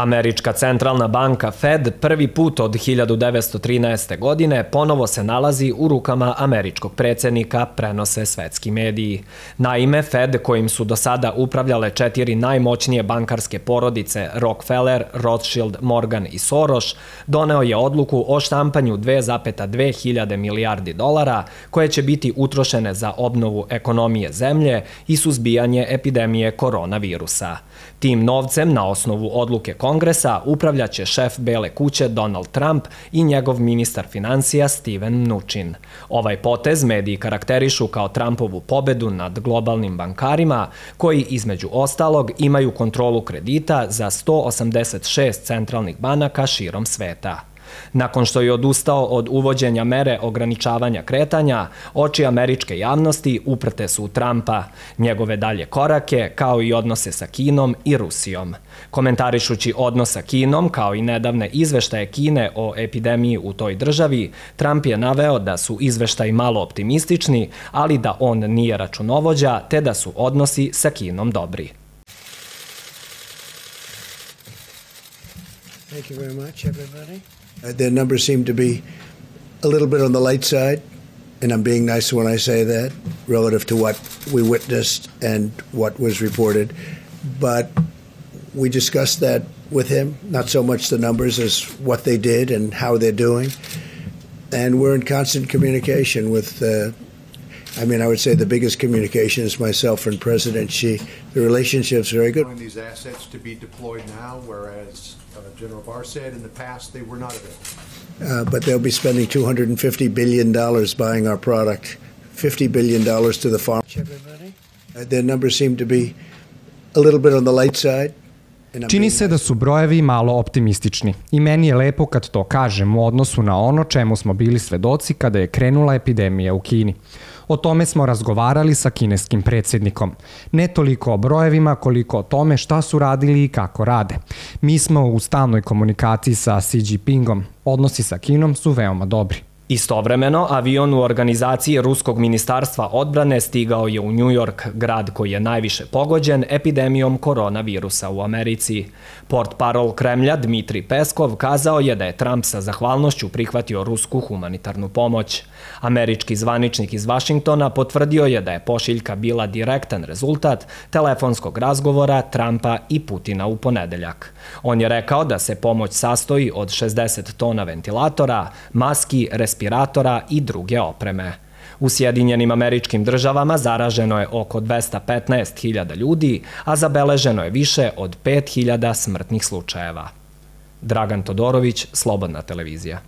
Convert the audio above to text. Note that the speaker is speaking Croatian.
Američka centralna banka Fed prvi put od 1913. godine ponovo se nalazi u rukama američkog predsjednika, prenose svetski mediji. Naime, Fed, kojim su do sada upravljale 4 najmoćnije bankarske porodice Rockefeller, Rothschild, Morgan i Soros, doneo je odluku o štampanju 2,2 hiljade milijardi dolara, koje će biti utrošene za obnovu ekonomije zemlje i suzbijanje epidemije koronavirusa. Tim novcem, na osnovu odluke Kongresa, upravljaće šef Bele kuće Donald Trump i njegov ministar financija Steven Mnuchin. Ovaj potez mediji karakterišu kao Trumpovu pobedu nad globalnim bankarima, koji između ostalog imaju kontrolu kredita za 186 centralnih banaka širom sveta. Nakon što je odustao od uvođenja mere ograničavanja kretanja, oči američke javnosti uprte su u Trumpa, njegove dalje korake, kao i odnose sa Kinom i Rusijom. Komentarišući odnos sa Kinom, kao i nedavne izveštaje Kine o epidemiji u toj državi, Trump je naveo da su izveštaji malo optimistični, ali da on nije računovođa, te da su odnosi sa Kinom dobri. Thank you very much, everybody. Their numbers seem to be a little bit on the light side, and I'm being nice when I say that, relative to what we witnessed and what was reported. But we discussed that with him, not so much the numbers as what they did and how they're doing. And we're in constant communication with, I would say the biggest communication is myself and President Xi. The relationship's very good. These assets to be deployed now, whereas General Barr said in the past they were not available. But they'll be spending $250 billion buying our product, $50 billion to the farm. Their numbers seem to be a little bit on the light side. Čini se da su brojevi malo optimistični i meni je lepo kad to kažem u odnosu na ono čemu smo bili svedoci kada je krenula epidemija u Kini. O tome smo razgovarali sa kineskim predsjednikom. Ne toliko o brojevima koliko o tome šta su radili i kako rade. Mi smo u stalnoj komunikaciji sa Xi Jinpingom. Odnosi sa Kinom su veoma dobri. Istovremeno, avion u organizaciji Ruskog ministarstva odbrane stigao je u New York, grad koji je najviše pogođen epidemijom koronavirusa u Americi. Portparol Kremlja Dmitrij Peskov kazao je da je Trump sa zahvalnošću prihvatio rusku humanitarnu pomoć. Američki zvaničnik iz Vašingtona potvrdio je da je pošiljka bila direktan rezultat telefonskog razgovora Trumpa i Putina u ponedeljak. On je rekao da se pomoć sastoji od 60 tona ventilatora, maski, respiratora i druge opreme. U Sjedinjenim Američkim Državama zaraženo je oko 215.000 ljudi, a zabeleženo je više od 5.000 smrtnih slučajeva. Dragan Todorović, Slobodna televizija.